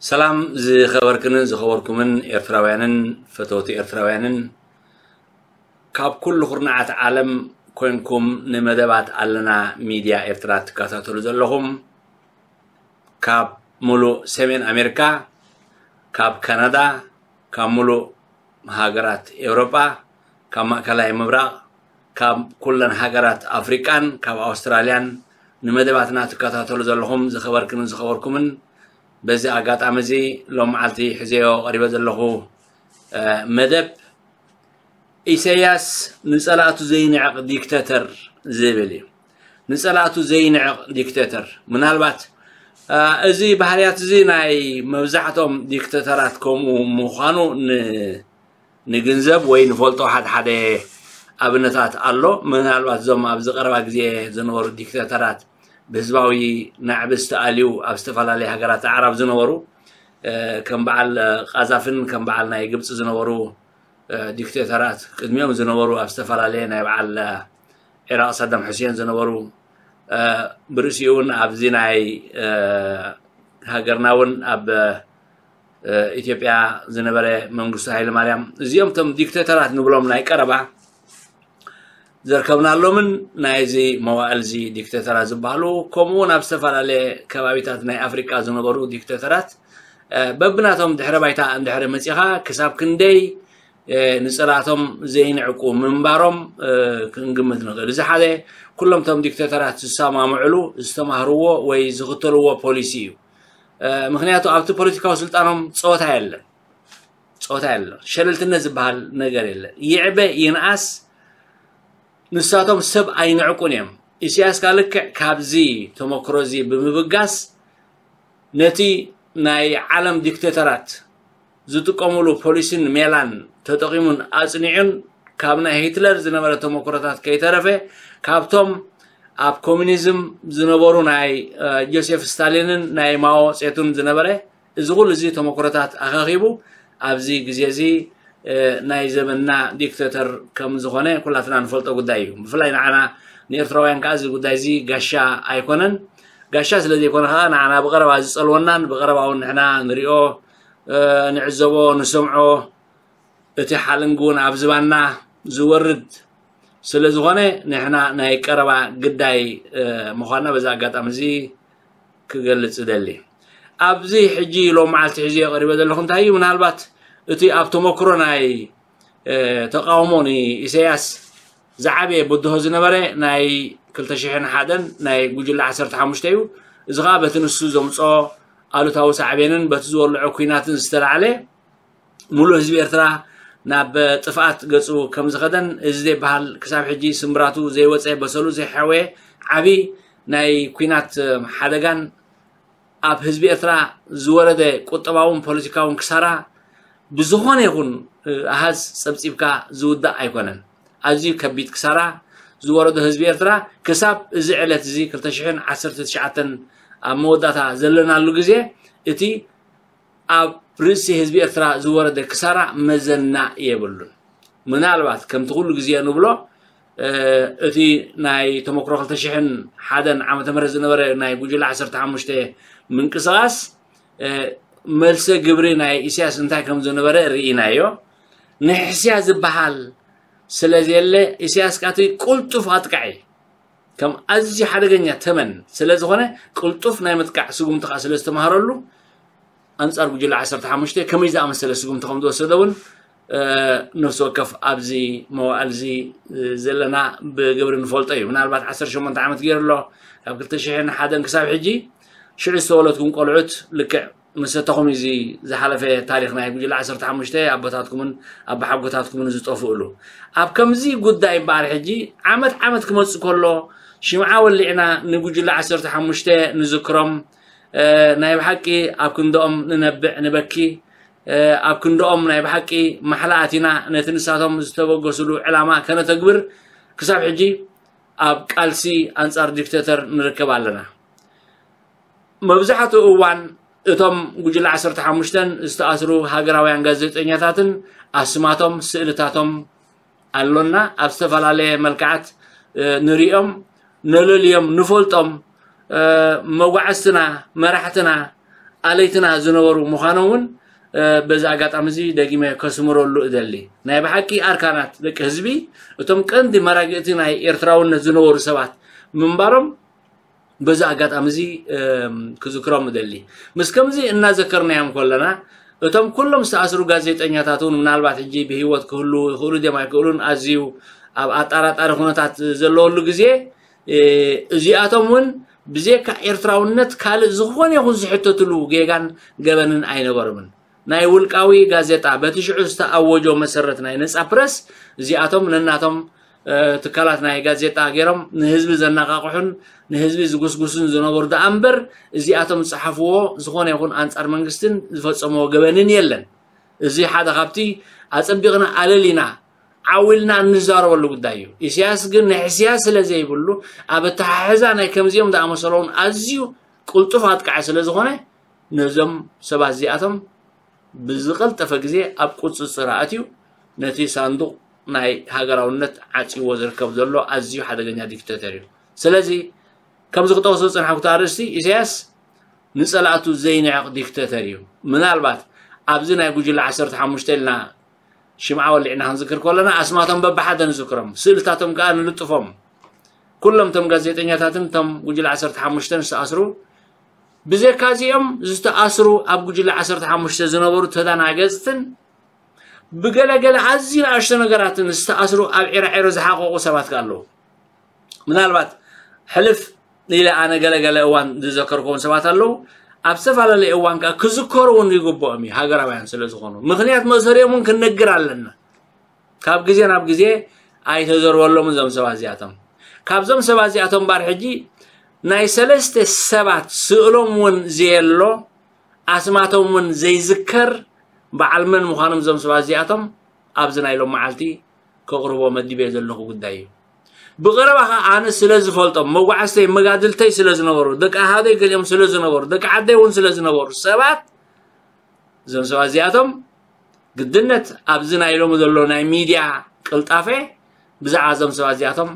ሰላም ዝኸበርክንን ዝኸበርኩምን ኤርትራውያንን ፈተውቲ ኤርትራውያንን፣ ካብ ኩሉ ኩርናዓት ዓለም ኮንኩም ንመደባት ኣለና ሚድያ ኤርትራ ትከታተሉ ዘለኹም፣ ካብ ሙሉእ ሰሜን ኣሜሪካ፣ ካብ ካናዳ፣ ካብ ሙሉእ ሃገራት ኤውሮጳ፣ ካብ ማእከላይ ምብራቕ፣ ካብ ኩለን ሃገራት ኣፍሪቃን ካብ ኣውስትራልያን ንመደባትና ትከታተሉ ዘለኹም ዝኸበርክንን ዝኸበርኩምን፣ በዚ ኣጋጣሚ እዚ ሎም መዓልቲ ሒዘዮ ቀሪበ ዘለኹ፣ እ፣ መደብ ኢሳያስ ንጸላእቱ ዘይንዕቕ ዲክተተር ዝብል እዩ። ንጸላእቱ ዘይንዕቕ ዲክተተር። ምናልባት፣ እ፣ እዚ ባህርያት እዚ ናይ መብዛሕቶም ዲክተተራት ከምኡ ምዃኑ ን-፣ ንግንዘብ ወይ ንፈልጦ ሓደ ሓደ ኣብነታት ኣሎ። ምናልባት እዞም ኣብዚ ቀረባ ግዜ ዝነበሩ ዲክተተራት ብህዝባዊ ናዕቢ ዝተኣልዩ ኣብ ዝተፈላለየ ሃገራት ኣዕራብ ዝነበሩ፣ እ፣ ከም በዓል ቃዛፍን ከም በዓል ናይ ግብጺ ዝነበሩ፣ እ፣ ዲክተተራት ቅድሚኦም ዝነበሩ ኣብ ዝተፈላለየ ናይ በዓል፣ እ፣ ዒራቕ ሳዳም ሑሴን ዝነበሩ፣ እ፣ ብርእሲኡ እውን ኣብዚ ናይ፣ እ፣ ሃገርና እውን ኣብ፣ እ፣ ኢትዮጵያ ዝነበረ መንግስቱ ሃይለማርያም፣ እዚኦም እቶም ዲክተተራት ንብሎም ናይ ቀረባ ዘርከብናሎምን ናይዚ መዋእል እዚ ዲክተተራት ዝበሃሉ፣ ከምኡ እውን ኣብ ዝተፈላለየ ከባቢታት ናይ ኣፍሪቃ ዝነበሩ ዲክተተራት፣ እ፣ በብናቶም ድሕረ ባይታ እንድሕሪ መጺኻ ክሳብ ክንደይ፣ እ፣ ንጸላእቶም ዘይንዕቁ ምንባሮም፣ እ፣ ክንግምት ንኽእል። እዚ ሓደ፣ ኩሎም እቶም ዲክተተራት ዝሰማምዕሉ፣ ዝተማህርዎ ወይ ዝኽተልዎ ፖሊሲ እዩ። እ፣ ምኽንያቱ ኣብቲ ፖለቲካዊ ስልጣኖም ጸወታ የለን። ጸወታ የለን። ሸለልትነት ዝበሃል ነገር የለን። ይዕበ ይንኣስ ንሳቶም ሰብ ኣይንዕቁን እዮም። ኢሳያስ ከኣ ልክዕ ካብዚ ተመክሮ እዚ ብምብጋስ ነቲ ናይ ዓለም ዲክተተራት ዝጥቀምሉ ፖሊሲን ሜላን ተጠቒሙን ኣጽኒዑን ካብ ናይ ሂትለር ዝነበረ ተመክሮታት ከይተረፈ ካብቶም ኣብ ኮሚኒዝም ዝነበሩ ናይ፣ እ፣ ጆሴፍ ስታሊንን ናይ ማኦ ጼቱን ዝነበረ እዚ ኩሉ እዚ ተመክሮታት ኣኻኺቡ ኣብዚ ግዜ እዚ፣ እ፣ ናይ ዘመንና ዲክተተር ከም ዝኾነ ኩላትና ንፈልጦ ጉዳይ እዩ። ብፍላይ ንዓና ንኤርትራውያን ከኣ እዚ ጉዳይ እዚ ጋሻ ኣይኮነን። ጋሻ ስለ ዘይኮነ ከኣ ንዓና ብቐረባ ዝጸልወናን ብቐረባ እውን ንሕና ንሪኦ፣ እ፣ ንዕዘቦ፣ ንሰምዖ፣ እቲ ሓለንጊ እውን ኣብ ዝባንና ዝወርድ ስለ ዝኾነ ንሕና ናይ ቀረባ ግዳይ፣ እ፣ ምዃንና በዚ ኣጋጣሚ እዚ ክገልጽ እደሊ። ኣብዚ ሕጂ ሎም መዓልቲ ሒዘዮ ቀሪበ ዘለኹ እንታይ እዩ? ምናልባት እቲ ኣብ ተመክሮ ናይ፣ እ፣ ተቃውሞ ንኢሳያስ ዝዓበየ ብድሆ ዝነበረ ናይ ክልተ ሽሕን ሓደን ናይ ጉጅለ ዓሰርተ ሓሙሽተ እዩ። እዚ ኸኣ በቲ ንሱ ዘምጾ ኣሉታዊ ሳዕቤንን በቲ ዝወልዖ ኲናትን ዝተላዕለ፣ ሙሉእ ህዝቢ ኤርትራ ናብ ጥፍኣት ገጹ ከም ዝኸደን፣ እዚ ዘይበሃል ክሳብ ሕጂ ስምብራቱ ዘይወጸ፣ በሰሉ ዘይሓወየ ዓቢ ናይ ኲናት ሓደጋን ኣብ ህዝቢ ኤርትራ ዝወረደ ቁጠባውን ፖለቲካውን ክሳራ ብዝኾነ ይኹን ኣሃዝ ጸብጺብካ ዝውዳእ ኣይኮነን። ኣዝዩ ከቢድ ክሳራ ዝወረዶ ህዝቢ ኤርትራ ክሳብ እዚ ዕለት እዚ ክልተ ሽሕን ዓሰርተ ትሽዓተን ኣብ መወዳእታ ዘለናሉ ግዜ እቲ ኣብ ርእሲ ህዝቢ ኤርትራ ዝወረደ ክሳራ መዘና የብሉን። ምናልባት ከምቲ ኩሉ ግዜ ንብሎ፣ እ፣ እቲ ናይ ተመክሮ ክልተ ሽሕን ሓደን ዓመተ ምህረት ዝነበረ ናይ ጉጅለ ዓሰርተ ሓሙሽተ ምንቅስቓስ፣ እ፣ መልሰ ግብሪ ናይ ኢሳያስ እንታይ ከም ዝነበረ ርኢናዮ። ንሕስያ ዝበሃል ስለ ዘየለ፣ ኢሳያስ ከኣ እቲ ቅልጡፍ ኣጥቃዒ ከም ኣዝዩ ሓደገኛ ተመን ስለ ዝኾነ፣ ቅልጡፍ ናይ ምጥቃዕ ስጉምቲ ከኣ ስለ ዝተማሃረሉ፣ ኣንጻር ጉጅለ ዓሰርተ ሓሙሽተ ከመይ ዝኣመሰለ ስጉምቲ ከም ዝወሰደ እውን፣ እ፣ ነፍሲ ወከፍ ኣብዚ መዋእል እዚ፣ እ፣ ዘለና ብግብሪ ንፈልጦ እዩ። ምናልባት ዓሰርተ ሸሞንተ ዓመት ገይሩ ኣሎ፣ ካብ ክልተ ሽሕን ሓደን ክሳብ ሕጂ። ሽዑ ዝተወለድኩም ቆልዑት ልክዕ መሰተኹም እዩ እዚ ዝሓለፈ ታሪኽ ናይ ጉጅለ ዓሰርተ ሓሙሽተ ኣቦታትኩምን ኣቦሓጎታትኩምን ዝጠፍእሉ። ኣብ ከምዚ ጉዳይ እምበኣር ሕጂ ዓመት ዓመት ክመጽእ ከሎ ሽምዓ ወሊዕና ንጉጅለ ዓሰርተ ሓሙሽተ ንዝክሮም፣ እ፣ ናይ ብሓቂ ኣብ ክንድኦም ንነብዕ ንበኪ፣ እ፣ ኣብ ክንድኦም ናይ ብሓቂ ማሕላ ኣቲና ነቲ ንሳቶም ዝተበገስሉ ዕላማ ከነተግብር ክሳብ ሕጂ ኣብ ቃልሲ ኣንጻር ዲክተተር ንርከብ ኣለና። መብዛሕትኡ እዋን እቶም ጉጅለ ዓሰርተ ሓሙሽተን ዝተኣስሩ ሃገራውያን ጋዜጠኛታትን ኣስማቶም፣ ስእልታቶም ኣሎና። ኣብ ዝተፈላለየ መልክዓት፣ እ፣ ንሪኦም፣ ነለልዮም፣ ንፈልጦም። እ፣ መጓዕዝትና፣ መራሕትና፣ ኣለይትና ዝነበሩ ምዃኖም እውን በዚ ኣጋጣሚ እዚ ደጊመ ከስምረሉ እደሊ። ናይ ብሓቂ ኣርካናት ደቂ ህዝቢ፣ እቶም ቀንዲ መራግእቲ ናይ ኤርትራውነት ዝነበሩ ሰባት ምንባሮም በዚ ኣጋጣሚ እዚ ክዝክሮም እደሊ። ምስ ከምዚ እናዘከርናዮም ከለና፣ እቶም ኩሎም ዝተኣስሩ ጋዜጠኛታት እውን ምናልባት ሕጂ ብህይወት ክህሉ ይኽእሉ ድዮም ኣይክእሉን ኣዝዩ ኣብ ኣጠራጣሪ ኩነታት ዘለወሉ ግዜ፣ እዚኣቶም እውን ብዘካ ኤርትራውነት ካልእ ዝኾነ ይኹን ዝሕተትሉ ጌጋን ገበንን ኣይነበሮምን። ናይ ውልቃዊ ጋዜጣ በቲ ሽዑ ዝተኣወጆ መሰረት ናይ ነጻ ፕረስ እዚኣቶም ነናቶም ትካላት ናይ ጋዜጣ ገይሮም ንህዝቢ ዘነቓቕሑን ንህዝቢ ዝጉስጉሱን ዝነበሩ ደኣ እምበር፣ እዚኣቶም ዝጸሓፍዎ ዝኾነ ይኹን ኣንጻር መንግስትን ዝፈጸምዎ ገበንን የለን። እዚ ሓደ ካብቲ ኣጸቢቕና ኣለሊና ዓው ኢልና እንዛረበሉ ጉዳይ እዩ። ኢሳያስ ግን ንሕስያ ስለ ዘይብሉ፣ ኣብ ኣተሓሕዛ ናይ ከምዚኦም ዝኣመሰለውን ኣዝዩ ቅልጡፍ ኣጥቃዒ ስለ ዝኾነ፣ ነዞም ሰባት እዚኣቶም ብዝቐልጠፈ ግዜ ኣብ ቁጽጽር ኣእትዩ ነቲ ሳንዱቕ ናይ ሃገራውነት ዓጽይዎ ዝርከብ ዘሎ ኣዝዩ ሓደገኛ ዲክተተር እዩ። ስለዚ ከምዚ ክጠቕሶ ዝጸናሕኩ ኣርእስቲ፣ ኢሳያስ ንጸላእቱ ዘይንዕቕ ዲክተተር እዩ። ምናልባት ኣብዚ ናይ ጉጅለ ዓሰርተ ሓሙሽተ ኢልና ሽምዓ ወሊዕና ክንዝክር ከለና ኣስማቶም በብሓደ ንዝክሮም፣ ስእልታቶም ከኣ ንልጥፎም። ኩሎም እቶም ጋዜጠኛታትን እቶም ጉጅለ ዓሰርተ ሓሙሽተን ዝተኣስሩ፣ ብዘካ እዚኦም ዝተኣስሩ ኣብ ጉጅለ ዓሰርተ ሓሙሽተ ዝነበሩ ተዳናገጽትን ብገለገለ ኣዝዩ ንኣሽቶ ነገራትን ዝተኣስሩ ኣብ ዒራዒሮ ዝሓቐቑ ሰባት ከኣ ኣለዉ። ምናልባት ሕልፍ ኢለ ኣነ ገለገለ እዋን ዝዘከርክዎም ሰባት ኣለዉ። ኣብ ዝተፈላለየ እዋን ከኣ ክዝከሩ እውን ይግብኦም እዩ፣ ሃገራውያን ስለ ዝኾኑ። ምኽንያት መእሰሪኦም እውን ክንነግር ኣለና። ካብ ግዜ ናብ ግዜ ኣይተዘርበሎምን እዞም ሰባት እዚኣቶም። ካብዞም ሰባት እዚኣቶም እምበኣር ሕጂ ናይ ሰለስተ ሰባት ስእሎም እውን ዘየሎ፣ ኣስማቶም እውን ዘይዝከር፣ በዓል መን ምዃኖም እዞም ሰባት እዚኣቶም ኣብዚ ናይ ሎም መዓልቲ ከቕርቦ መዲበ ዘለኹ ጉዳይ እዩ። ብቐረባ ኸኣ ኣነ ስለ ዝፈልጦም፣ መጓዓዝተይ መጋድልተይ ስለ ዝነበሩ፣ ደቂ ኣሃደይ ገሊኦም ስለ ዝነበሩ፣ ደቂ ዓደይ እውን ስለ ዝነበሩ ሰባት፣ እዞም ሰባት እዚኣቶም ግድነት ኣብዚ ናይ ሎሚ ዘሎ ናይ ሚድያ ቅልጣፈ ብዛዕባ እዞም ሰባት እዚኣቶም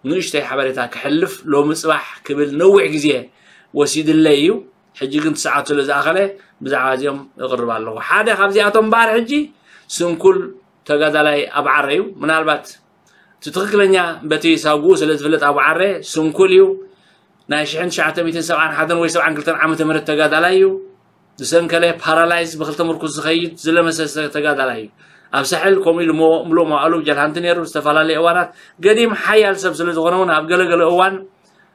ንእሽተይ ሓበሬታ ክሕልፍ ሎሚ ጽባሕ ክብል ነዊሕ ግዜ ወሲድለይ እዩ። ሕጂ ግን እቲ ሰዓት ስለ ዝኣኸለ ብዛዕባ እዚኦም እቕርብ ኣለኹ። ሓደ ካብዚኣቶም እምበኣር ሕጂ ስንኩል ተጋዳላይ ኣብዓረ እዩ። ምናልባት እቲ ትኽክለኛ በቲ ሳጉኡ ስለ ዝፍለጥ ኣብዓረ ስንኩል እዩ። ናይ ሽሕን ትሽዓተ ሚእትን ሰብዓን ሓደን ወይ ሰብዓን ክልተን ዓመተ ምህረት ተጋዳላይ እዩ። ዝሰንከለ ፓራላይዝ ብክልተ ምርኩስ ዝኸይድ ዝለመሰ ተጋዳላይ እዩ። ኣብ ሳሕል ከምኡ ኢሉ ምሉእ መዋእሉ ጀልሃንቲ ነይሩ። ዝተፈላለዩ እዋናት ገዲም ሓያል ሰብ ስለ ዝኾነ እውን ኣብ ገለገለ እዋን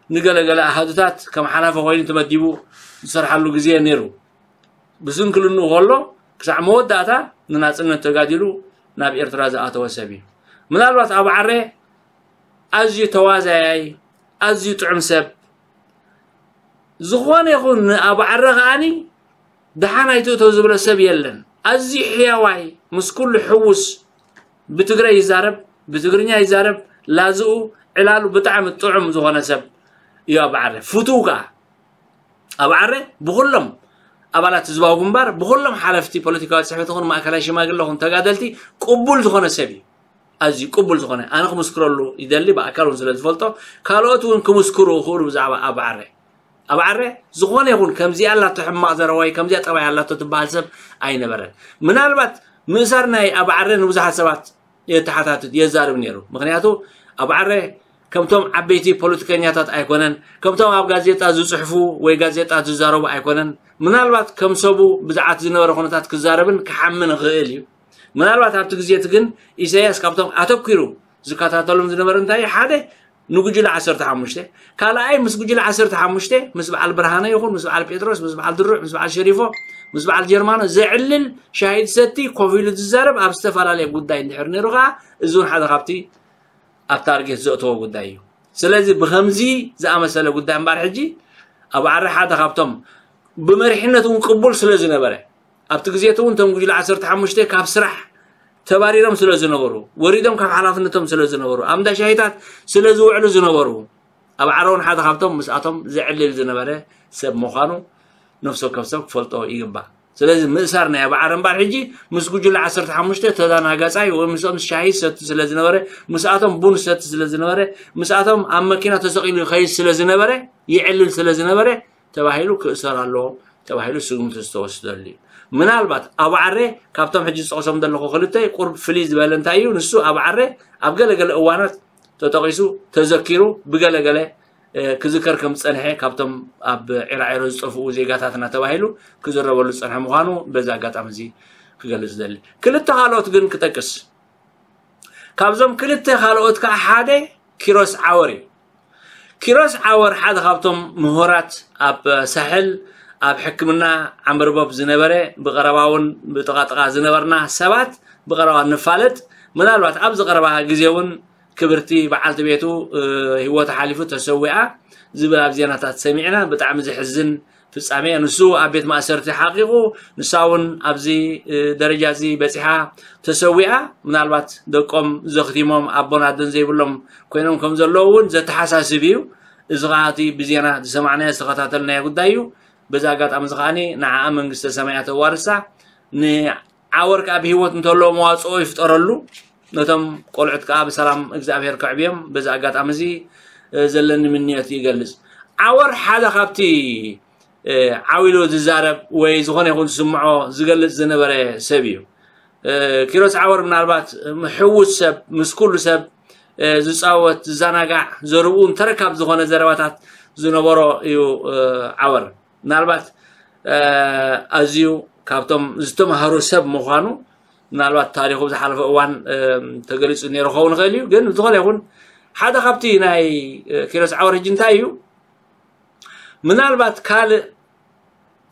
ንገለገለ ኣሃዱታት ከም ሓላፊ ኮይኑ ተመዲቡ ዝሰርሓሉ ግዜ ነይሩ። ብስንክልንኡ ከሎ ክሳዕ መወዳእታ ንናጽነት ተጋዲሉ ናብ ኤርትራ ዝኣተወ ሰብ እዩ። ምናልባት ኣብዓረ ኣዝዩ ተዋዛያይ፣ ኣዝዩ ጥዑም ሰብ፣ ዝኾነ ይኹን ንኣብዓረ ከኣኒ ደሓን ኣይትእቶ ዝብሎ ሰብ የለን። ኣዝዩ ሕያዋይ፣ ምስ ኩሉ ሕዉስ፣ ብትግረ ይዛረብ፣ ብትግርኛ ይዛረብ፣ ላዝኡ፣ ዕላሉ ብጣዕሚ ጥዑም ዝኾነ ሰብ እዩ ኣብዓረ። ፍቱው ከኣ ኣብዓረ ብኹሎም ኣባላት ህዝባዊ ግንባር፣ ብኹሎም ሓለፍቲ ፖለቲካዊ ጽሕፈት ይኹን ማእከላይ ሽማግለ ይኹን ተጋደልቲ ቅቡል ዝኾነ ሰብ እዩ። ኣዝዩ ቅቡል ዝኾነ፣ ኣነ ክምስክረሉ ይደሊ፣ ብኣካል እውን ስለ ዝፈልጦ፣ ካልኦት እውን ክምስክሩ ይኽእሉ ብዛዕባ ኣብዓረ። ኣብዓረ ዝኾነ ይኹን ከምዚኣ ኣላቶ ሕማቕ ዘረባ ወይ ከምዚኣ ጠባይ ኣላቶ ትበሃል ሰብ ኣይነበረን። ምናልባት ምእሳር ናይ ኣብዓረ ንብዙሓት ሰባት የተሓታትት፣ የዛርብ ነይሩ። ምኽንያቱ ኣብዓረ ከምቶም ዓበይቲ ፖለቲከኛታት ኣይኮነን፣ ከምቶም ኣብ ጋዜጣ ዝጽሕፉ ወይ ጋዜጣ ዝዛረቡ ኣይኮነን። ምናልባት ከም ሰቡ ብዛዕባ ዝነበረ ኩነታት ክዛረብን ክሓምን ይኽእል እዩ። ምናልባት ኣብቲ ግዜ እቲ ግን ኢሳያስ ካብቶም ኣተኲሩ ዝከታተሎም ዝነበረ እንታይ እዩ? ሓደ ንጉጅለ ዓሰርተ ሓሙሽተ፣ ካልኣይ ምስ ጉጅለ ዓሰርተ ሓሙሽተ ምስ በዓል ብርሃነ ይኹን ምስ በዓል ጴጥሮስ፣ ምስ በዓል ድሩዕ፣ ምስ በዓል ሸሪፎ፣ ምስ በዓል ጀርማኖ ዘዕልል ሻሂ ዝሰቲ ኮፍ ኢሉ ዝዛረብ ኣብ ዝተፈላለየ ጉዳይ እንድሕር ነይሩ ከኣ እዚ እውን ሓደ ካብቲ ኣብ ታርጌት ዘእተዎ ጉዳይ እዩ። ስለዚ ብኸምዚ ዝኣመሰለ ጉዳይ እምበኣር ሕጂ ኣብዓረ ሓደ ካብቶም ብመሪሕነት እውን ቅቡል ስለ ዝነበረ ኣብቲ ግዜ እቲ እውን እቶም ጉጅለ ዓሰርተ ሓሙሽተ ካብ ስራሕ ተባሪሮም ስለ ዝነበሩ፣ ወሪዶም ካብ ሓላፍነቶም ስለ ዝነበሩ፣ ኣብ እንዳ ሻሂታት ስለ ዝውዕሉ ዝነበሩ፣ ኣብዓረ እውን ሓደ ካብቶም ምስኣቶም ዘዕልል ዝነበረ ሰብ ምዃኑ ነፍሲ ወከፍ ሰብ ክፈልጦ ይግባእ። ስለዚ ምእሳር ናይ ኣብዓረ እምበኣር ሕጂ ምስ ጉጅለ ዓሰርተ ሓሙሽተ ተዳናጋጻይ ወይ ምስኦም ሻሂ ዝሰቲ ስለ ዝነበረ፣ ምስኣቶም ቡን ዝሰቲ ስለ ዝነበረ፣ ምስኣቶም ኣብ መኪና ተሰቒሉ ይኸይድ ስለ ዝነበረ፣ ይዕልል ስለ ዝነበረ ተባሂሉ ክእሰር ኣለዎ ተባሂሉ ስጉምቲ ዝተወስደሉ እዩ። ምናልባት ኣብ ዓረ ካብቶም ሕጂ ዝጠቕሶም ዘለኹ ክልተ ቁርብ ፍልይ ዝበለ እንታይ እዩ? ንሱ ኣብ ዓረ ኣብ ገለገለ እዋናት ተጠቒሱ ተዘኪሩ ብገለገለ ክዝከር ከም ዝጸንሐ ካብቶም ኣብ ዒራዒሮ ዝጠፍኡ ዜጋታትና ተባሂሉ ክዝረበሉ ዝጸንሐ ምዃኑ በዚ ኣጋጣሚ እዚ ክገልጽ ዝደሊ። ክልተ ካልኦት ግን ክጠቅስ። ካብዞም ክልተ ካልኦት ከዓ ሓደ ኪሮስ ዓወር እዩ። ኪሮስ ዓወር ሓደ ካብቶም ምሁራት ኣብ ሳሕል ኣብ ሕክምና ዓምርቦብ ዝነበረ ብቐረባ እውን ብጥቓጥቓ ዝነበርና ሰባት ብቐረባ ንፋለጥ። ምናልባት ኣብዚ ቀረባ ግዜ እውን ክብርቲ በዓልቲ ቤቱ ህይወቱ ሓሊፉ ተሰዊኣ ዝብል ኣብ ዜናታት ሰሚዕና። ብጣዕሚ ዘሕዝን ፍጻሜ። ንሱ ኣብ ቤት ማእሰርቲ ሓቂቑ፣ ንሳ እውን ኣብዚ ደረጃ እዚ በጺሓ ተሰዊኣ። ምናልባት ደቆም ዘኽቲሞም ኣቦን ኣደን ዘይብሎም ኮይኖም ከም ዘለዉ እውን ዘተሓሳስብ እዩ። እዚ ከዓ እቲ ብዜና ዝሰማዕናዮ ዝተኸታተልናዮ ጉዳይ እዩ። በዚ ኣጋጣሚ እዚ ከዓኒ ንዓኣ መንግስተ ሰማያት ተዋርሳ፣ ንዓወር ከዓ ብህይወት እንተሎ መዋፅኦ ይፍጠረሉ፣ ነቶም ቆልዑት ከዓ ብሰላም እግዚኣብሔር ከዕብዮም በዚ ኣጋጣሚ እዚ ዘለኒ ምንዮት ይገልፅ። ዓወር ሓደ ካብቲ ዓው ኢሉ ዝዛረብ ወይ ዝኾነ ይኹን ዝስምዖ ዝገልፅ ዝነበረ ሰብ እዩ። ኪሮስ ዓወር ምናልባት ምሕውስ ሰብ፣ ምስ ኩሉ ሰብ ዝፃወት፣ ዝዘናጋዕ፣ ዘርብኡ እንተረካብ ዝኾነ ዘረባታት ዝነበሮ እዩ። ዓወር ምናልባት ኣዝዩ ካብቶም ዝተምሃሩ ሰብ ምዃኑ ምናልባት ታሪኹ ዝሓለፈ እዋን ተገሊፁ ነይሩ ክኸውን ይኽእል እዩ። ግን ዝኾነ ይኹን ሓደ ካብቲ ናይ ኪሮስ ዓወር ሕጂ እንታይ እዩ? ምናልባት ካልእ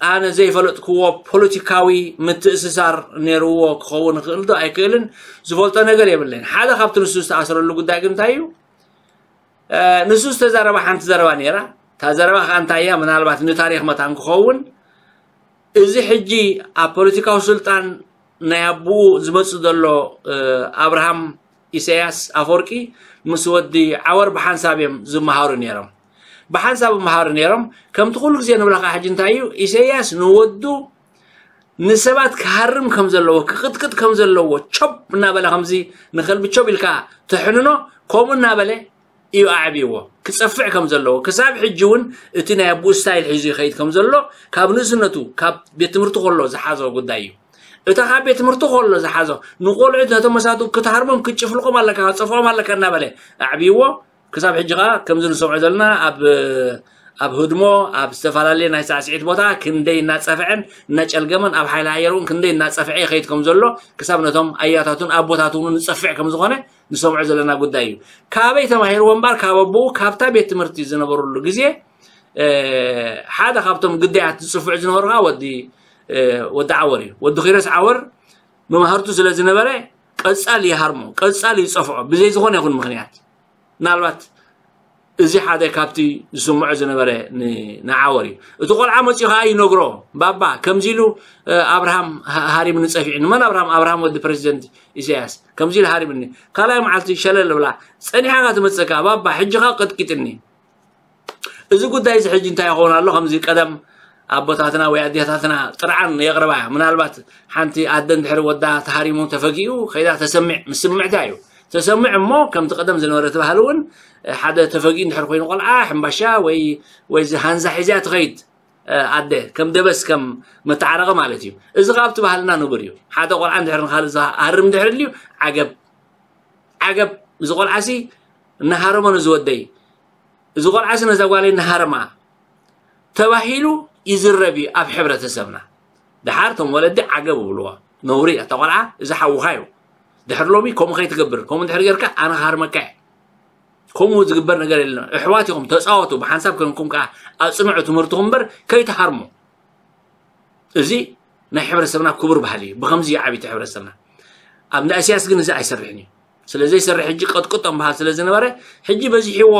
ኣነ ዘይፈለጥክዎ ፖለቲካዊ ምትእስሳር ነይርዎ ክኸውን ይኽእል ዶ ኣይክእልን ዝፈልጦ ነገር የብለይን። ሓደ ካብቲ ንሱ ዝተኣስረሉ ጉዳይ ግን እንታይ እዩ? ንሱ ዝተዛረባ ሓንቲ ዘረባ ነይራ። እታ ዘረባ ከዓ እንታይ እያ? ምናልባት ንታሪኽ መታን ክኸውን እዚ ሕጂ ኣብ ፖለቲካዊ ስልጣን ናይ ኣቦኡ ዝመጽእ ዘሎ ኣብርሃም ኢሳያስ ኣፈወርቂ ምስ ወዲ ዓወር ብሓንሳብ እዮም ዝመሃሩ ነይሮም። ብሓንሳብ ይመሃሩ ነይሮም። ከምቲ ኩሉ ግዜ ንብላ ከዓ ሕጂ እንታይ እዩ? ኢሳያስ ንወዱ ንሰባት ክሃርም ከም ዘለዎ፣ ክቕጥቅጥ ከም ዘለዎ፣ ቾብ እናበለ ከምዚ ንኸልቢ ቾብ ኢልካ ተሕንኖ፣ ከምኡ እናበለ እዩ ኣዕብይዎ። ክጸፍዕ ከም ዘለዎ፣ ክሳብ ሕጂ እውን እቲ ናይ ኣቦኡ ስታይል ሒዙ ይኸይድ ከም ዘሎ፣ ካብ ንእስነቱ፣ ካብ ቤት ትምህርቲ ከሎ ዝሓዞ ጉዳይ እዩ። እታ ካብ ቤት ትምህርቲ ከሎ ዝሓዞ፣ ንቆልዑት ነቶም መሳቱ ክትሃርሞም፣ ክትጭፍልቆም ኣለካ፣ ክትጸፍዖም ኣለካ እናበለ ኣዕብይዎ። ክሳብ ሕጂ ኸዓ ከምዚ ንሰምዖ ዘለና ኣብ ኣብ ህድሞ ኣብ ዝተፈላለየ ናይ ሳዕስዒት ቦታ ክንደይ እናጸፍዐን እናጨልገመን ኣብ ሓይሊ ኣየር እውን ክንደይ እናጸፍዐ ይኸይድ ከም ዘሎ ክሳብ ነቶም ኣያታቱን ኣቦታቱን እውን ዝጸፍዕ ከም ዝኾነ ንሰምዖ ዘለና ጉዳይ እዩ። ካበይ ተማሂርዎ እምበር ካብ ኣቦኡ ካብታ ቤት ትምህርቲ ዝነበሩሉ ግዜ ሓደ ካብቶም ግዳያት ዝጽፍዑ ዝነበሩ ከዓ ወዲ ወዲ ዓወር እዩ። ወዲ ኪሮስ ዓወር መማህርቱ ስለ ዝነበረ ቀጻሊ ይሃርሞ፣ ቀጻሊ ይጸፍዖ ብዘይ ዝኾነ ይኹን ምኽንያት። ምናልባት እዚ ሓደ ካብቲ ዝስምዖ ዝነበረ ንዓወር እዩ። እቲ ቆልዓ መፂኡ ከዓ ይነግሮ፣ ባባ ከምዚ ኢሉ ኣብርሃም ሃሪምኒ ፀፊዑ። ንመን ኣብርሃም? ኣብርሃም ወዲ ፕሬዚደንት ኢሳያስ ከምዚ ኢሉ ሃሪምኒ። ካልኣይ መዓልቲ ሸለል ብላ ፀኒሓ ትመፀካ፣ ባባ ሕጂ ከዓ ቀጥቂጥኒ። እዚ ጉዳይ እዚ ሕጂ እንታይ ይኸውን ኣሎ? ከምዚ ቀደም ኣቦታትና ወይ ኣዴታትና ጥርዓን የቕርባ። ምናልባት ሓንቲ ኣደ እንድሕር ወዳ ተሃሪሙ ተፈጊኡ ከይዳ ተሰምዕ፣ ምስምዕታ እዩ። ተሰምዕ እሞ ከምቲ ቀደም ዝነበረ እቲ ባህሊ እውን ሓደ ተፈጊኡ እንድሕር ኮይኑ ቆልዓ ሕምባሻ ወይ ወይ እዚ ሃንዛ ሒዝያ ትኸይድ ኣደ ከም ደበስ ከም መተዓረቂ ማለት እዩ። እዚ ካብ እቲ ባህልና ንቡር እዩ። ሓደ ቆልዓ እንድሕር ንኻልእ ዝሃርም እንድሕር ልዩ ዓገብ ዓገብ እዚ ቆልዓሲ እናሃረሞ ንዝወደይ እዚ ቆልዓሲ ነዛ ጓለይ እናሃረማ ተባሂሉ ይዝረብ እዩ ኣብ ሕብረተሰብና። ደሓር እቶም ወለዲ ዓገብ ይብልዎ። ነውሪ እያ እታ ቆልዓ፣ እዚ ሓውኻ እዩ። ድሕሪ ሎሚ ከምኡ ከይትገብር፣ ከምኡ እንድሕር ጌርካ ኣነ ክሃርመካ እየ። ከምኡ ዝግበር ነገር የለን። ኣሕዋት ኢኹም፣ ተፃወቱ፣ ብሓንሳብ ኮንኩም ከዓ ኣፅንዑ ትምህርትኹም እምበር ከይትሃርሙ። እዚ ናይ ሕብረተሰብና ክቡር ባህሊ እዩ። ብኸምዚ እዩ ዓብይቲ ሕብረተሰብና። ኣብ እንዳ ኢሳያስ ግን እዚ ኣይሰርሕን እዩ። ስለ ዘይሰርሕ ሕጂ ቀጥቅጦም በሃል ስለ ዝነበረ ሕጂ በዚሕዎ፣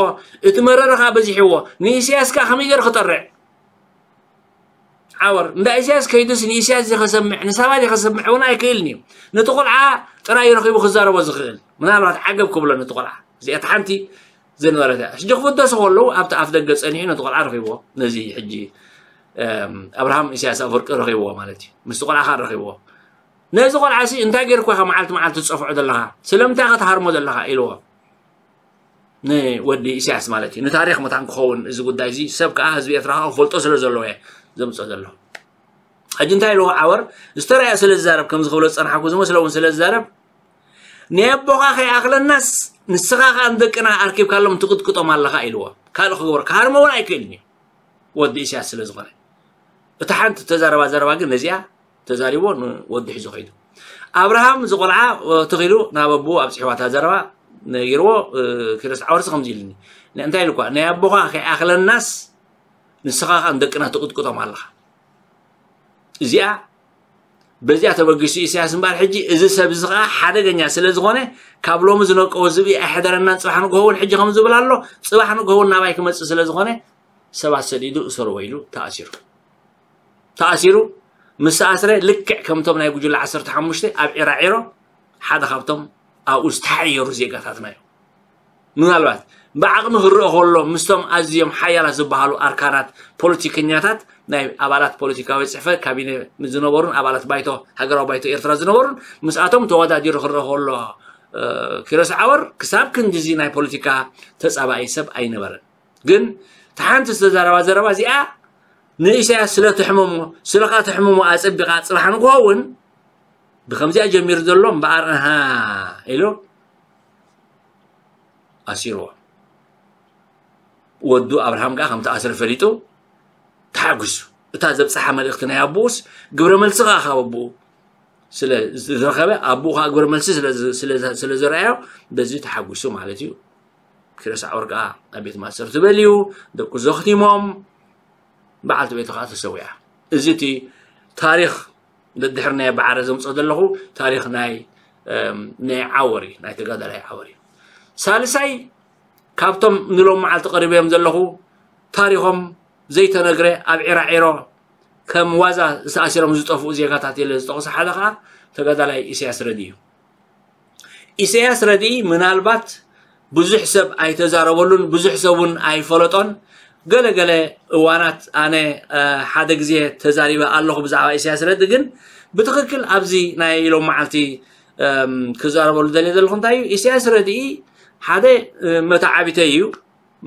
እቲ መረረ ከዓ በዚሕዎ። ንኢሳያስ ከዓ ከመይ ገይሩ ክጠርዕ? ዓወር እንዳ ኢሳያስ ከይዱስ ንኢሳያስ ዲኸሰምዕ ንሳባ ዲኸሰምዕ እውን ኣይክእልን እዩ። ነቲ ቆልዓ ጥራይ ረኺቡ ክዛረቦ ዝኽእል ምናልባት ዓገብ ክብሎ ነቲ ቆልዓ። እዚኣት ሓንቲ ዝነበረት እያ። ሕጂ ክፍደሱ ከለዉ ኣብቲ ኣፍ ደገ ጸኒሑ ነቲ ቆልዓ ረኺብዎ። ነዚ ሕጂ ኣብርሃም ኢሳያስ ኣፈወርቂ ረኺብዎ ማለት እዩ። ምስቲ ቆልዓ ኻን ረኺብዎ። ነዚ ቆልዓ ሲ እንታይ ገይርኳ ኢኻ መዓልቲ መዓልቲ ትጸፍዖ ዘለኻ? ስለምንታይ ኢኻ ትሃርሞ ዘለኻ? ኢልዎ። ንወዲ ኢሳያስ ማለት እዩ። ንታሪኽ መታን ክኸውን እዚ ጉዳይ እዚ ሰብ ከዓ ህዝቢ ኤርትራ ከዓ ክፈልጦ ስለ ዘለዎ እየ ዘምፅኦ ዘለኹ። ሕጂ እንታይ ኢልዎ ዓወር? ዝተረኣየ ስለ ዝዛረብ፣ ከምዚ ክብሎ ዝጸናሕኩ ዝመስሎ እውን ስለ ዝዛረብ፣ "ናይ ኣቦኻ ከይኣኽለናስ ንስኻ ከኣ ንደቅና ኣርኪብካሎም ትቕጥቅጦም ኣለኻ" ኢልዎ። ካልእ ክገብሮ ክሃርሞ እውን ኣይክእልን እዩ፣ ወዲ ኢሳያስ ስለ ዝኾነ። እታ ሓንቲ ተዛረባ ዘረባ ግን ነዚኣ ተዛሪቦ ንወዲ ሒዞ ከይዱ። ኣብርሃም ዝቆልዓ ተኺሉ ናብ ኣቦኡ ኣብጽሕዋ እታ ዘረባ ነጊርዎ። ኪሮስ ዓወርሲ ከምዚ ኢልኒ፣ እንታይ ኢልኳ፣ "ናይ ኣቦኻ ከይኣኽለናስ ንስኻ ከኣ ንደቅና ትቕጥቅጦም ኣለኻ"። እዚኣ በዚኣ ተበጊሱ ኢሳያስ እምበኣር፣ ሕጂ እዚ ሰብ እዚ ከኣ ሓደገኛ ስለ ዝኾነ፣ ካብ ሎሚ ዝነቀወ ዝብኢ ኣይሕደረናን፣ ጽባሕ ንግሆ እውን ሕጂ ከም ዝብል ኣሎ፣ ጽባሕ ንግሆ እውን ናባይ ክመጽእ ስለ ዝኾነ፣ ሰባት ሰዲዱ እሰርዎ ኢሉ ተኣሲሩ። ተኣሲሩ ምስ ተኣስረ፣ ልክዕ ከምቶም ናይ ጉጅለ ዓሰርተ ሓሙሽተ ኣብ ዒራዒሮ ሓደ ካብቶም ኣብኡ ዝተሓየሩ ዜጋታትና እዩ። ምናልባት ብዓቕሚ ክረአ ከሎ፣ ምስቶም ኣዝዮም ሓያላት ዝበሃሉ ኣርካናት ፖለቲከኛታት፣ ናይ ኣባላት ፖለቲካዊ ጽሕፈት ካቢነ ዝነበሩን ኣባላት ባይቶ፣ ሃገራዊ ባይቶ ኤርትራ ዝነበሩን፣ ምስኣቶም ተወዳዲሩ ክረአ ከሎ፣ እ፣ ኪሮስ ዓወር ክሳብ ክንድዚ ናይ ፖለቲካ ተጻባኢ ሰብ ኣይነበረን። ግን እታ ሓንቲ ዝተዛረባ ዘረባ እዚኣ ንኢሳያስ ስለ ትሕመሞ፣ ስለኻ ትሕመሞ ኣጸቢቓ፣ ጽባሕ ንግሆ እውን ብከምዚኣ ጀሚሩ ዘሎ እምበኣር፣ ኣሃ ኢሉ ኣሲርዎ። ወዱ ኣብርሃም ከኣ ከም ተኣስረ ፈሊጡ ተሓጒሱ። እታ ዘብጽሓ መልእኽቲ ናይ ኣቦኡስ ግብረ መልሲ ከኣ ካብ ኣቦኡ ስለ ዝረኸበ፣ ኣቦኡ ከኣ ግብረ መልሲ ስለ ዝ-፣ ስለ ዝ-፣ ስለ ዘርኣዮ፣ በዚ ተሓጒሱ ማለት እዩ። ኪሮስ ዓወር ከኣ ኣብ ቤት ማእሰርቲ በልዩ፣ ደቁ ዘኽቲሞም፣ በዓልቲ ቤቱ ከኣ ተሰዊኣ። እዚ እቲ ታሪኽ፣ ደድሕሪ ናይ በዓረ ዘምጽኦ ዘለኹ ታሪኽ ናይ፣ እም፣ ናይ ዓወር እዩ፣ ናይ ተጋዳላይ ዓወር እዩ። ሳልሳይ፣ ካብቶም ንሎም መዓልቲ ቀሪበዮም ዘለኹ፣ ታሪኾም ዘይተነግረ፣ ኣብ ዒራዒሮ ከም ዋዛ ዝተኣሲሮም ዝጠፍኡ ዜጋታት ኢለ ዝጠቕሶ ሓደ ከኣ ተጋዳላይ ኢሳያስ ረዲ እዩ። ኢሳያስ ረድኢ ምናልባት ብዙሕ ሰብ ኣይተዛረበሉን፣ ብዙሕ ሰብ እውን ኣይፈለጦን። ገለ ገለ እዋናት ኣነ፣ እ፣ ሓደ ግዜ ተዛሪበ ኣለኹ ብዛዕባ ኢሳያስ ረድኢ፣ ግን ብትኽክል ኣብዚ ናይ ሎም መዓልቲ፣ እም፣ ክዛረበሉ ደልየ ዘለኹ እንታይ እዩ፣ ኢሳያስ ረድኢ ሓደ፣ እ፣ መተዓቢተይ እዩ።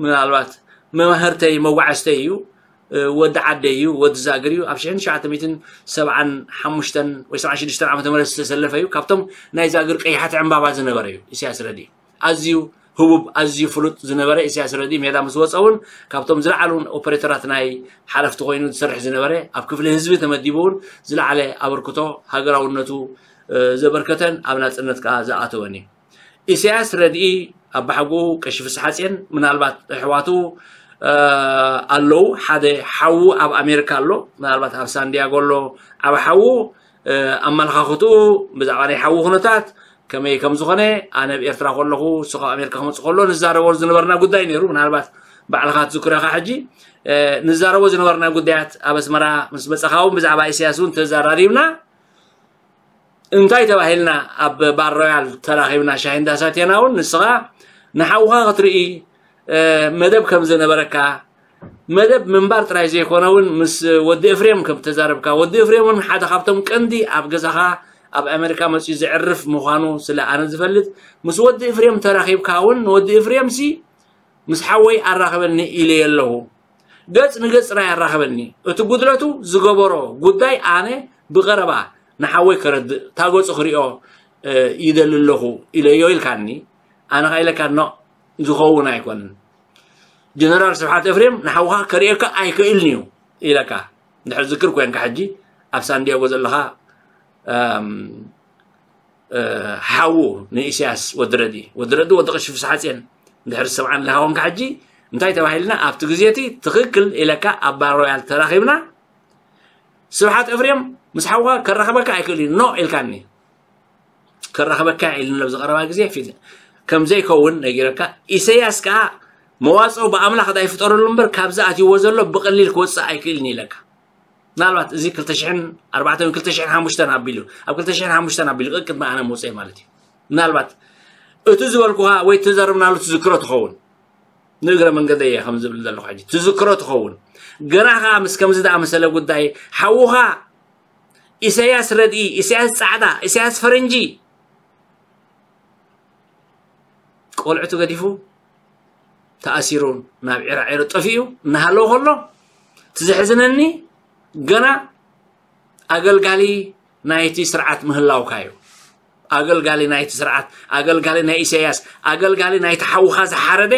ምናልባት መማህርተይ፣ መጓዓዝተይ እዩ፣ እ፣ ወዲ ዓደይ እዩ፣ ወዲ ዛግር እዩ። ኣብ ሽሕን ትሽዓተ ሚእትን ሰብዓን ሓሙሽተን ወይ ሰብዓን ሽዱሽተን ዓመተ ምህረት ዝተሰለፈ እዩ። ካብቶም ናይ ዛግር ቀያሕቲ ዕምባባ ዝነበረ እዩ ኢሳያስ ረድኢ። ኣዝዩ ህቡብ፣ ኣዝዩ ፍሉጥ ዝነበረ ኢሳያስ ረድኢ ሜዳ ምስ ወጸ እውን ካብቶም ዝለዓሉ ኦፐሬተራት ናይ ሓለፍቲ ኮይኑ ዝሰርሕ ዝነበረ፣ ኣብ ክፍሊ ህዝቢ ተመዲቡ እውን ዝለዓለ ኣበርክቶ ሃገራውነቱ፣ እ፣ ዘበርከተን ኣብ ናጽነት ከኣ ዝኣተወን እዩ። ኢሳያስ ረድኢ ኣባሓጎኡ ቀሺ ፍስሓጽዮን፣ ምናልባት ኣሕዋቱ፣ እ፣ ኣለዉ። ሓደ ሓዉ ኣብ ኣሜሪካ ኣሎ፣ ምናልባት ኣብ ሳንዲያጎ ኣሎ። ዓቢ ሓዉ፣ እ፣ ኣመለኻኽትኡ ብዛዕባ ናይ ሓዉ ኩነታት ከመይ ከም ዝኾነ፣ ኣነ ኣብ ኤርትራ ከለኹ፣ ንሱ ካብ ኣሜሪካ ክመጽእ ከሎ ንዛረቦ ዝነበርና ጉዳይ ነይሩ። ምናልባት ባዕልኻ ትዝክሮ ኢኻ ሕጂ። እ፣ ንዛረቦ ዝነበርና ጉዳያት ኣብ ኣስመራ ምስ መጻኻ እውን ብዛዕባ ኢሳያስ እውን ተዘራሪብና። እንታይ ተባሂልና ኣብ ባር ሮያል ተራኺብና ሻሂ እንዳሰቴና እውን ንስኻ ንሓውኻ ክትርኢ፣ እ፣ መደብ ከም ዝነበረካ፣ መደብ ምንባር ጥራይ ዘይኮነ እውን ምስ ወዲ ኤፍሬም ከም ተዛረብካ፣ ወዲ ኤፍሬም እውን ሓደ ካብቶም ቀንዲ ኣብ ገዛኻ ኣብ ኣሜሪካ መጺኡ ዘዕርፍ ምዃኑ ስለ ኣነ ዝፈልጥ፣ ምስ ወዲ ኤፍሬም ተራኺብካ እውን ንወዲ ኤፍሬምሲ ምስ ሓወይ ኣራኽበኒ ኢለዮ ኣለኹ። ገጽ ንገጽ ጥራይ ኣራኽበኒ። እቲ ጉድለቱ ዝገበሮ ጉዳይ ኣነ ብቐረባ ንሓወይ ከረድእ፣ እታ ገጹ ክሪኦ፣ እ፣ ይደሊ ኣለኹ ኢለዮ ኢልካኒ። ኣነ ኸኣ ኢለካ፣ ኖ፣ ዝኸውን ኣይኮነን። ጀነራል ስብሓት ኤፍሬም ንሓውኻ ከርእየካ ኣይክእልን እዩ ኢለካ። እንድሕር ዝክር ኮንካ ሕጂ ኣብ ሳንዲያጎ ዘለኻ፣ እም፣ እ፣ ሓዉ ንኢሳያስ ወዲ ረዲ፣ ወዲ ረዲ ወዲ ቀሺ ፍስሓጽዮን እንድሕር ዝሰምዓኒ ኣለኻ ኮንካ ሕጂ፣ እንታይ ተባሂልና ኣብቲ ግዜ እቲ ትኽክል ኢለካ ኣብ ባር ሮያል ተራኺብና፣ ስብሓት ኤፍሬም ምስ ሓውኻ ከራኽበካ ኣይክእልን እዩ፣ ኖ ኢልካኒ። ከራኽበካ ኢልኒ ኣብ ዝቐረባ ግዜ ፊት ከም ዘይከውን ነጊረካ፣ ኢሳያስ ከኣ መዋጽኦ ብኣምላኽ ዳ ይፍጠረሉ እምበር ካብዚ ኣትይዎ ዘሎ ብቐሊል ክወጽእ ኣይክእልን ኢለካ። ምናልባት እዚ ክልተ ሽሕን ኣርባዕተን ክልተ ሽሕን ሓሙሽተን ኣቢሉ፣ ኣብ ክልተ ሽሕን ሓሙሽተን ኣቢሉ ቅድሚ ኣነ ምውጽእ ማለት እዩ። ምናልባት እቲ ዝበልኩኻ ወይ እተዛረብናሉ ትዝክሮ ትኸውን። ንእግረ መንገደይ እየ ከም ዝብል ዘለኹ ሕጂ። ትዝክሮ ትኸውን። ገና ኸኣ ምስ ከምዚ ዝኣመሰለ ጉዳይ ሓውኻ ኢሳያስ ረድኢ፣ ኢሳያስ ጻዕዳ፣ ኢሳያስ ፈረንጂ ቆልዕቱ ገዲፉ ተኣሲሩ ናብ ዒራዒሮ ጠፊኡ እናሃለወ ከሎ፣ እቲ ዘሕዝነኒ ገና ኣገልጋሊ ናይቲ ስርዓት ምህላውካ እዩ። ኣገልጋሊ ናይቲ ስርዓት፣ ኣገልጋሊ ናይ ኢሳያስ፣ ኣገልጋሊ ናይቲ ሓውኻ ዝሓረደ፣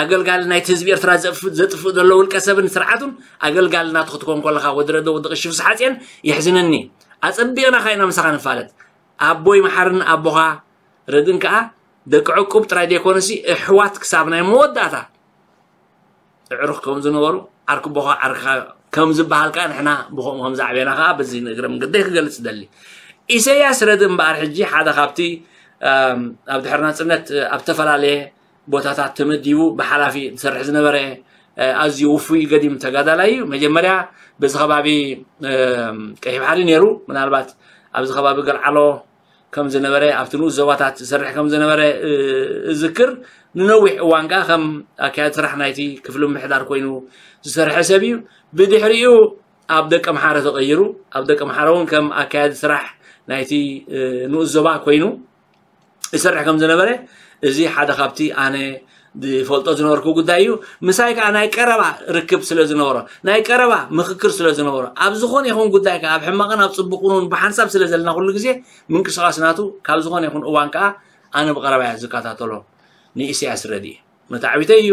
ኣገልጋሊ ናይቲ ህዝቢ ኤርትራ ዘጥፍእ ዘሎ ውልቀ ሰብን ስርዓቱን ኣገልጋሊ ናቱ ክትኮን ከለኻ፣ ወዲ ረደ፣ ወዲ ቀሺ ፍስሓጽዮን፣ የሕዝነኒ። ኣጸቢቕና ኸኣ ኢና ምሳኻ ንፋለጥ። ኣቦይ መሓርን ኣቦኻ ረድን ከኣ ደቂ ዕቁብ ጥራይ ዘይኮነሲ፣ ኣሕዋት ክሳብ ናይ መወዳእታ ኣዕሩኽ ከም ዝነበሩ፣ ዓርኪ ኣቦኻ ዓርክኻ ከም ዝበሃል ከኣ፣ ንሕና ብኸምኡ ከም ዝዓበና ከኣ በዚ ንእግረ መንገደይ ክገልጽ እደሊ። ኢሰያስ ረድ እምበኣር ሕጂ ሓደ ካብቲ፣ ኣም፣ ኣብ ድሕሪ ናጽነት ኣብ ዝተፈላለየ ቦታታት ተመዲቡ ብሓላፊ ዝሰርሕ ዝነበረ፣ እ፣ ኣዝዩ ውፉይ ገዲም ተጋዳላይ እዩ። መጀመርያ በዚ ከባቢ፣ እም፣ ቀይሕ ባሕሪ ነይሩ። ምናልባት ኣብዚ ከባቢ ገልዓሎ ከም ዝነበረ፣ ኣብቲ ንኡስ ዞባታት ዝሰርሕ ከም ዝነበረ፣ እ፣ እዝክር። ንነዊሕ እዋን ከኣ ከም ኣካያዲ ስራሕ ናይቲ ክፍሊ ምምሕዳር ኮይኑ ዝሰርሐ ሰብ እዩ። ብድሕሪኡ ኣብ ደቀምሓረ ተቐይሩ። ኣብ ደቀምሓረ እውን ከም ኣካያዲ ስራሕ ናይቲ፣ እ፣ ንኡስ ዞባ ኮይኑ ይሰርሕ ከም ዝነበረ፣ እዚ ሓደ ካብቲ ኣነ ዝፈልጦ ዝነበርኩ ጉዳይ እዩ። ምሳይ ከኣ ናይ ቀረባ ርክብ ስለ ዝነበሮ፣ ናይ ቀረባ ምኽክር ስለ ዝነበሮ፣ ኣብ ዝኾነ ይኹን ጉዳይ ከኣ፣ ኣብ ሕማቕን ኣብ ጽቡቕን እውን ብሓንሳብ ስለ ዘለና፣ ኩሉ ግዜ ምንቅስቓስ ናቱ ካብ ዝኾነ ይኹን እዋን ከኣ ኣነ ብቐረባ እየ ዝከታተሎ። ንኢሳያስ ረድኢ መታዕቢተይ እዩ፣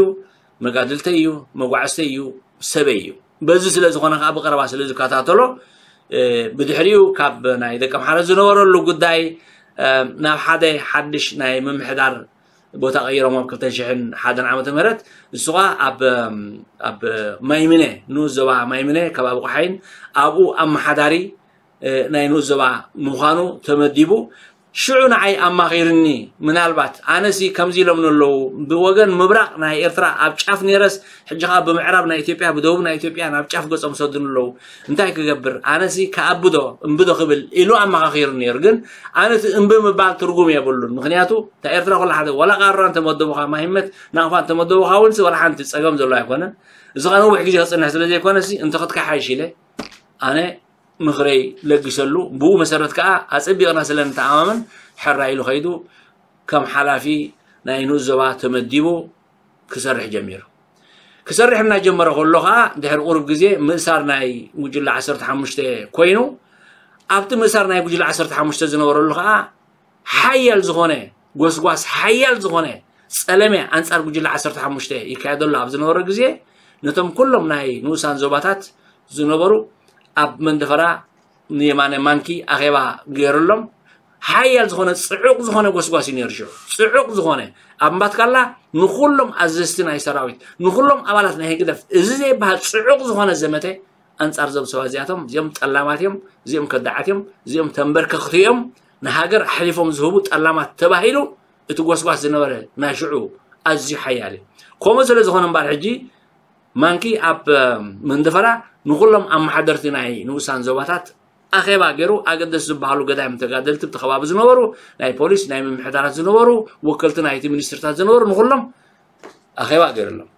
መጋድልተይ እዩ፣ መጓዕዝተይ እዩ፣ ሰበይ እዩ። በዚ ስለ ዝኾነ ከኣ ብቐረባ ስለ ዝከታተሎ፣ እ፣ ብድሕሪኡ ካብ ናይ ደቀምሓረ ዝነበረሉ ጉዳይ፣ እ፣ ናብ ሓደ ሓድሽ ናይ ምምሕዳር ቦታ ቀይሮም ኣብ ክልተ ሽሕን ሓደን ዓመተ ምህረት፣ ንሱ ኸኣ ኣብ፣ ኣብ ማይምነ፣ ንኡስ ዞባ ማይምነ፣ ከባቢ ቆሓይን ኣብኡ ኣመሓዳሪ፣ እ፣ ናይ ንኡስ ዞባ ምዃኑ ተመዲቡ። ሽዑ ንዓይ ኣማኺርኒ። ምናልባት ኣነሲ ከምዚ ኢሎምኒ ኣለዉ፣ ብወገን ምብራቕ ናይ ኤርትራ ኣብ ጫፍ ነይረስ፣ ሕጂ ኸኣ ብምዕራብ ናይ ኢትዮጵያ፣ ብደቡብ ናይ ኢትዮጵያ ናብ ጫፍ ገጾም ሰዱኒ ኣለዉ። እንታይ ክገብር? ኣነሲ ክኣብዶ እምብዶ ክብል ኢሉ ኣመኻኺሩ ነይሩ። ግን ኣነ እቲ እምቢ ምባል ትርጉም የብሉን። ምኽንያቱ እታ ኤርትራ ኩላ ሓደ፣ ዋላ ቃራ እንተመደቡኻ፣ ማሂመት ናቕፋ እንተመደቡኻ እውን፣ ዋላ ሓንቲ ጸገም ዘሎ ኣይኮነን። እዚ ኸኣ ነዊሕ ግዜ ክጽንሕ ስለ ዘይኮነሲ፣ እንተ ክትከሓይሽ ኢለ ኣነ ምኽረይ ለጊሰሉ። ብኡ መሰረት ከኣ ኣጸቢቕና ስለ ንተኣማመን፣ ሕራይ ኢሉ ኸይዱ ከም ሓላፊ ናይ ንኡስ ዞባ ተመዲቡ ክሰርሕ ጀሚሩ። ክሰርሕ እናጀመረ ከሎ ኸኣ፣ ድሕሪ ቁሩብ ግዜ ምእሳር ናይ ጉጅለ ዓሰርተ ሓሙሽተ ኮይኑ፣ ኣብቲ ምእሳር ናይ ጉጅለ ዓሰርተ ሓሙሽተ ዝነበረሉ ኸኣ፣ ሓያል ዝኾነ ጎስጓስ፣ ሓያል ዝኾነ ጸለመ ኣንጻር ጉጅለ ዓሰርተ ሓሙሽተ ይካየደሉ ኣብ ዝነበረ ግዜ፣ ነቶም ኩሎም ናይ ንኡሳን ዞባታት ዝነበሩ ኣብ መንደፈራ ንየማነ ማንኪ ኣኼባ ገይሩሎም። ሓያል ዝኾነ ጽዑቕ ዝኾነ ጎስጓስ እዩ ነይሩ። ሽዑ ጽዑቕ ዝኾነ፣ ኣብ እምባትካላ ንኹሎም ኣዘዝቲ ናይ ሰራዊት፣ ንኹሎም ኣባላት ናይ ህግደፍ፣ እዚ ዘይበሃል ጽዑቕ ዝኾነ ዘመተ ኣንጻር እዞም ሰባት እዚኣቶም። እዚኦም ጠላማት እዮም፣ እዚኦም ከዳዓት እዮም፣ እዚኦም ተንበርከኽቲ እዮም፣ ንሃገር ኣሕሊፎም ዝህቡ ጠላማት ተባሂሉ እቲ ጎስጓስ ዝነበረ ናይ ሽዑ ኣዝዩ ሓያል እዩ። ከምኡ ስለ ዝኾነ እምበኣር፣ ሕጂ ማንኪ ኣብ መንደፈራ ንኹሎም ኣመሓደርቲ ናይ ንኡሳን ዞባታት ኣኼባ ገይሩ፣ ኣገደስቲ ዝበሃሉ ገዳይም ተጋደልቲ ኣብቲ ከባቢ ዝነበሩ፣ ናይ ፖሊስ፣ ናይ ምምሕዳራት ዝነበሩ፣ ወከልቲ ናይቲ ሚኒስትርታት ዝነበሩ፣ ንኹሎም ኣኼባ ገይሩሎም።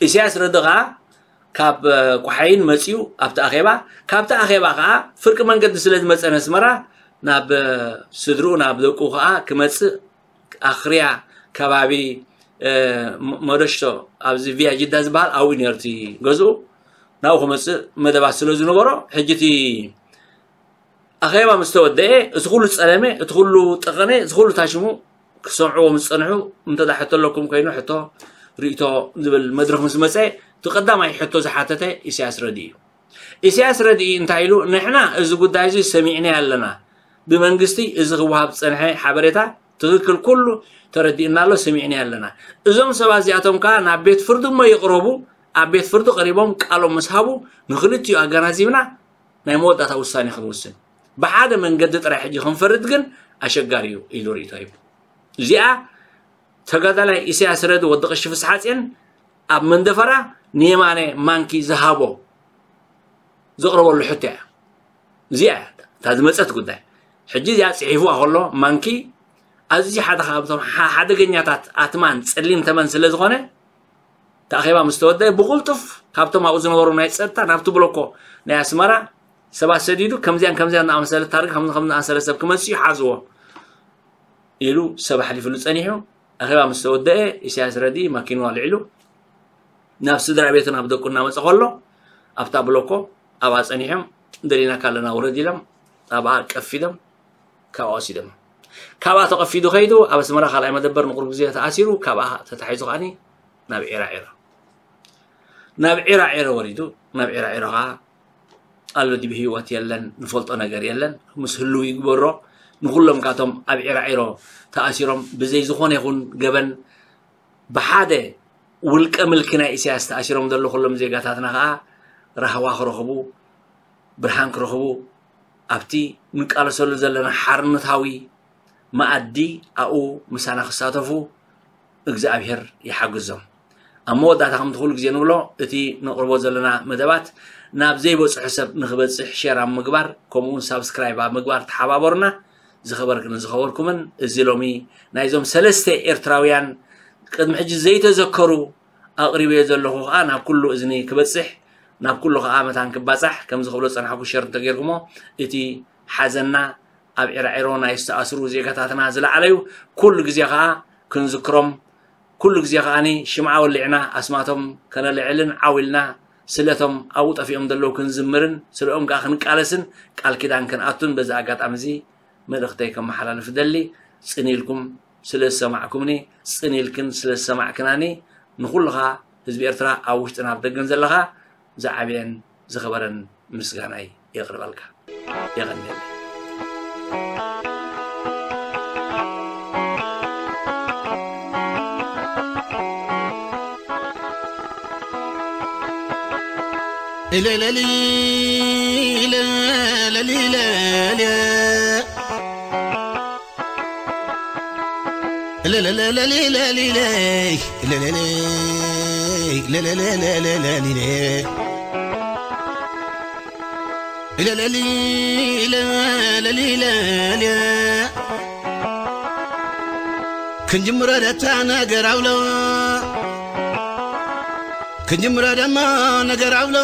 ኢሳያስ ረዲ ኸኣ ካብ፣ እ፣ ቆሓይን መጺኡ ኣብቲ ኣኼባ፣ ካብቲ ኣኼባ ኸኣ ፍርቂ መንገዲ ስለ ዝመጸ ነስመራ፣ ናብ፣ እ፣ ስድርኡ፣ ናብ ደቁ ኸኣ ክመጽእ ኣኽርያ ከባቢ፣ እ፣ መ-፣ መደሽቶ፣ ኣብዚ ቪያ ጅዳ ዝበሃል ኣብኡ ነይሩ እቲ ገዝኡ። ናብኡ ክመጽእ መደባት ስለ ዝነበሮ፣ ሕጂ እቲ ኣኼባ ምስ ተወደኤ፣ እቲ ኩሉ ጸለመ፣ እቲ ኩሉ ጠቐነ፣ እዚ ኩሉ ታሽሙ ክሰምዕዎ ምስ ጸንሑ፣ እንተ ደኣ ሕቶ ኣለኩም ኮይኑ፣ ሕቶ፣ ርእይቶ ዝብል መድረኽ ምስ መጸ፣ እቲ ቀዳማይ ሕቶ ዝሓተተ ኢሳያስ ረድኢ እዩ። ኢሳያስ ረድኢ እንታይ ኢሉ? ንሕና እዚ ጉዳይ እዚ ሰሚዕናዮ ኣለና። ብመንግስቲ እዚ ክወሃብ ዝጸንሐ ሓበሬታ ትኽክል፣ ኩሉ ተረዲእና ኣሎ፣ ሰሚዕናዮ ኣለና። እዞም ሰባት እዚኣቶም ከኣ ናብ ቤት ፍርዲ እሞ ይቕረቡ፣ ኣብ ቤት ፍርዲ ቀሪቦም ቃሎም ምስ ሃቡ፣ ንኽልቲኡ ኣገናዚብና ናይ መወዳእታ ውሳኔ ክንውስን። ብሓደ መንገዲ ጥራይ ሕጂ ክንፈርድ ግን ኣሸጋሪ እዩ ኢሉ ርእይቶ ሂቡ። እዚኣ ተጋዳላይ ኢሳያስ ረዲ ወዲ ቀሺ ፍስሓጽዮን ኣብ መንደፈራ ንየማነ ማንኪ ዝሃቦ ዘቕረበሉ ሕቶ እያ። እዚኣ እያ እታ ዝመጸት ጉዳይ። ሕጂ እዚኣ ጽሒፍዋ ከሎ ማንኪ ኣዝዩ ሓደ ካብቶም ሓ-፣ ሓደገኛታት ኣትማን ጸሊም ተመን ስለ ዝኾነ፣ እቲ ኣኼባ ምስ ተወደአ ብቕልጡፍ ካብቶም ኣብኡ ዝነበሩ ናይ ጸጥታ ናብቲ ብሎኮ ናይ ኣስመራ ሰባት ሰዲዱ፣ ከምዚኣን ከምዚኣን ዝኣመሰለ ታርጋ፣ ከምዚ ከምዚ ዝኣመሰለ ሰብ ክመጽእ እዩ፣ ሓዝዎ ኢሉ ሰብ ኣሕሊፍሉ ጸኒሑ። ኣኼባ ምስ ተወደአ፣ ኢሳያስ ረድኢ ማኪንኡ ኣልዒሉ ናብ ስድራ ቤቱ ናብ ደቁ እናመጸ ከሎ፣ ኣብታ ብሎኮ ኣብኣ ጸኒሖም ደሊናካ ኣለና ውረድ ኢሎም ኣብኣ ቀፊዶም ካብኣ ወሲዶም። ካብኣ ተቐፊዱ ከይዱ ኣብ ኣስመራ ካልኣይ መደበር ንቁሩብ ግዜ ተኣሲሩ፣ ካብኣ ተታሒዙ ከዓኒ ናብ ዒራዒሮ ናብ ዒራዒሮ ወሪዱ። ናብ ዒራዒሮ ከኣ ኣሎ ድቢ ህይወት የለን፣ ንፈልጦ ነገር የለን። ምስ ህልው ይግበሮ። ንኹሎም ካቶም ኣብ ዒራዒሮ ተኣሲሮም ብዘይ ዝኾነ ይኹን ገበን ብሓደ ውልቀ ምልኪ ናይ ኢሳያስ ተኣሲሮም ዘለዉ ኩሎም ዜጋታትና ከኣ ራህዋ ክረኽቡ፣ ብርሃን ክረኽቡ፣ ኣብቲ ንቃለሰሉ ዘለና ሓርነታዊ መኣዲ ኣብኡ ምሳና ክሳተፉ እግዚኣብሔር ይሓግዞም። ኣብ መወዳእታ ከምቲ ኩሉ ግዜ ንብሎ፣ እቲ ነቕርቦ ዘለና መደባት ናብ ዘይበጽሖ ሰብ ንኽበጽሕ ሸር ኣብ ምግባር፣ ከምኡውን ሳብስክራይብ ኣብ ምግባር ተሓባበሩና። ዝኸበርክን ዝኸበርኩምን፣ እዚ ሎሚ ናይዞም ሰለስተ ኤርትራውያን ቅድሚ ሕጂ ዘይተዘከሩ ኣቕሪበዮ ዘለኹ ከኣ ናብ ኩሉ እዝኒ ክበጽሕ፣ ናብ ኩሉ ከኣ መታን ክባጻሕ፣ ከም ዝኽብሎ ዝጸናሕኩ ሸር እንተጌርኩሞ፣ እቲ ሓዘንና ኣብ ዒራዒሮ ናይ ዝተኣስሩ ዜጋታትና ዝለዓለ እዩ። ኩሉ ግዜ ከኣ ክንዝክሮም፣ ኩሉ ግዜ ከኣኒ ሽምዓ ወሊዕና ኣስማቶም ከነልዕልን ዓው ኢልና ስለቶም ኣብኡ ጠፊኦም ዘለዉ ክንዝምርን ስለኦም ከኣ ክንቃለስን ቃል ኪዳን ክንኣቱን በዚ ኣጋጣሚ እዚ መልእኽተይ ከመሓላልፍ እደሊ። ጽን ኢልኩም ስለ ዝሰማዕኩምኒ፣ ጽን ኢልክን ስለ ዝሰማዕክናኒ፣ ንኹልኻ ህዝቢ ኤርትራ ኣብ ውሽጥን ኣብ ደገን ዘለኻ ዝዓበየን ዝኸበረን ምስጋናይ የቕርበልካ። የቐንየለይ። ክንጅምሮ ደታ ነገር ኣብሎ፣ ክንጅምሮ ደማ ነገር ኣብሎ።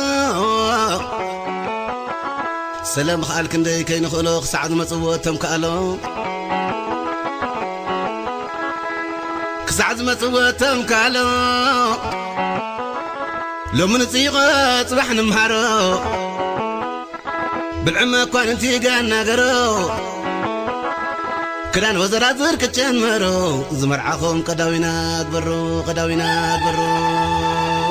ሰላም ምኽኣል ክንደይ ከይንኽእሎ፣ ክሳዕ ዝመጽዎ እቶም ከኣሎ፣ ክሳዕ ዝመጽዎ እቶም ከኣሎ። ሎሚ ንጽይቖ ጽባሕ ንምሃሮ፣ ብልዒ መኳንንቲ ጋና ገሮ። ክዳን ወዘራዝር ክጨመሮ፣ ዝመርዓኹም ቀዳዊና ግበሮ፣ ቀዳዊና ግበሮ።